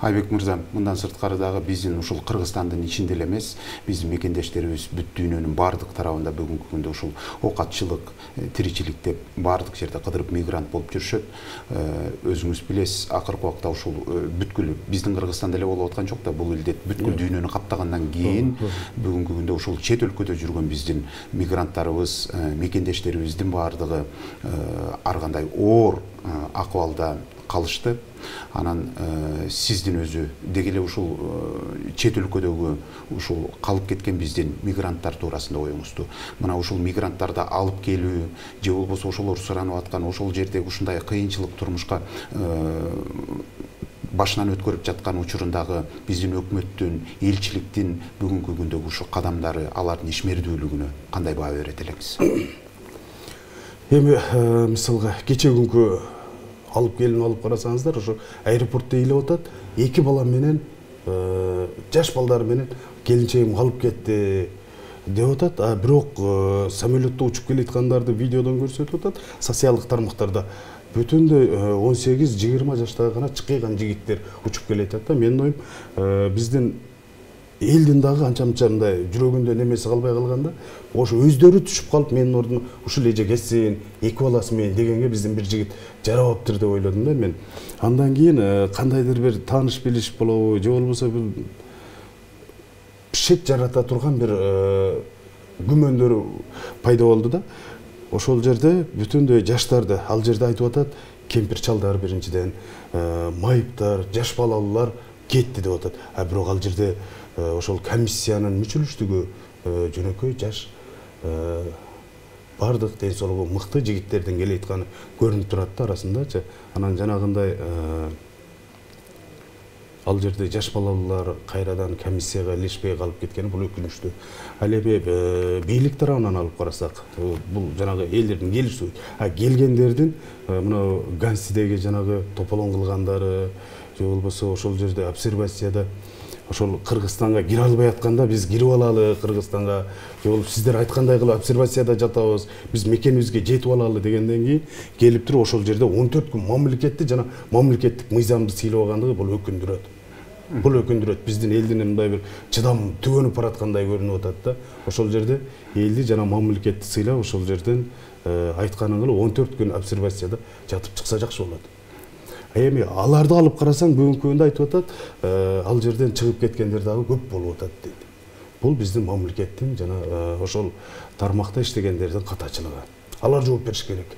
Айбек мырза, мындан сырткары дагы биздин ушул Кыргызстандын ичинде эле эмес, биздин мекендештерибиз бүт дүйнөнүн бардык тарабында бүгүнкү күндө ушул оокатчылык, тиричилик деп бардык жерде кыдырып мигрант болуп жүрүшөт. Өзүңүз билесиз, акыркы убакта ушул бүткүл биздин Кыргызстанда эле болуп аткан жок да, бул илдет бүткүл дүйнөнү каптагандан кийин бүгүнкү күндө ушул чет өлкөдө жүргөн биздин мигранттарыбыз, мекендештерибиздин бардыгы ар кандай оор акыбалда калышты. Анан сиздин өзү деги эле ушул чет өлкөдөгү ушул калып кеткен биздин мигранттар туурасында оюңузду. Мына ушул мигранттарды алып келүү же болбосо ошолор суранып аткан ошол жердеги ушундай кыйынчылык турмушка башынан өткөрүп жаткан учурундагы биздин өкмөттүн, элчиликтин бүгүнкү күндөгү ушу кадамдары, алардын ишмердүүлүгүнө кандай баа берет элеңиз? Эми мисалга кече күнкү алып келин алып карасаңыздар, ошо аэропортто ыйлап атат, 2 бала менен жаш балдары менен келинчегим алып кетти деп атат. А бирок самолетто учуп келаткандарды видеодон көрсөтүп атат, социалдык тармактарда. Бүтүндөй 18-20 жаштагы гана чыккан жигиттер учуп келатат да. Менин оюм биздин элдин дагы анча-мынча мындай жүрөгүндө немеси калбай калганда, ошо өздөрү түшүп калып менин ордума ушул эже кетсин, 2 баласы менен дегенге биздин бир жигит жарабаптыр деп ойлодум да мен. Андан кийин кандайдыр бир тааныш билиш болобу, же болбосо бул шек жарата турган бир күмөндөр пайда болду да. Ошол жерде бүтүндөй жаштарды ал жерде айтып атат, кемпир чалдар биринчиден, майыптар, жаш балалар кетти деп атат. А бирок ал жерде ошол комиссиянын мүчөлүштүгү жөнөкөй жаш бардык ден соолугу мыкты жигиттердин келатканы көрүнүп турат да арасындачы. Анан жанагындай ал жерде жаш балалар кайрадан комиссияга илешпей калып кеткени бул өкүнүчтүү. Ал эми бийлик тарабынан алып карасак, бул жанагы элдердин келиши, келгендердин мына Гансидеги жанагы тополоң кылгандары, же болбосо ошол жерде обсервацияда ошол Кыргызстанга кире албай атканда биз кирип алалы Кыргызстанга, же болуп сиздер айткандай кылып обсервацияда жатабыз, биз мекенибизге жетип алалы дегенден кийин келип туруп ошол жерде 14 күн мамлекетти жана мамлекеттик мыйзамды сыйлабагандыгы бул өкүндүрөт. Бул өкүндүрөт. Биздин элдин мындай бир чыдам түгөнүп бараткандай көрүнүп атат да. Ошол жерде элди жана мамлекетти сыйлап, ошол жерден айтканын кылып 14 күн обсервацияда жатып чыкса жакшы болот. Эми аларды алып карасаң бүгүнкү күндө айтып атат, ал жерден чыгып кеткендер дагы көп болуп атат дейт. Бул биздин мамлекеттин жана ошол тармакта иштегендердин катачылыгы. Алар жооп бериш керек.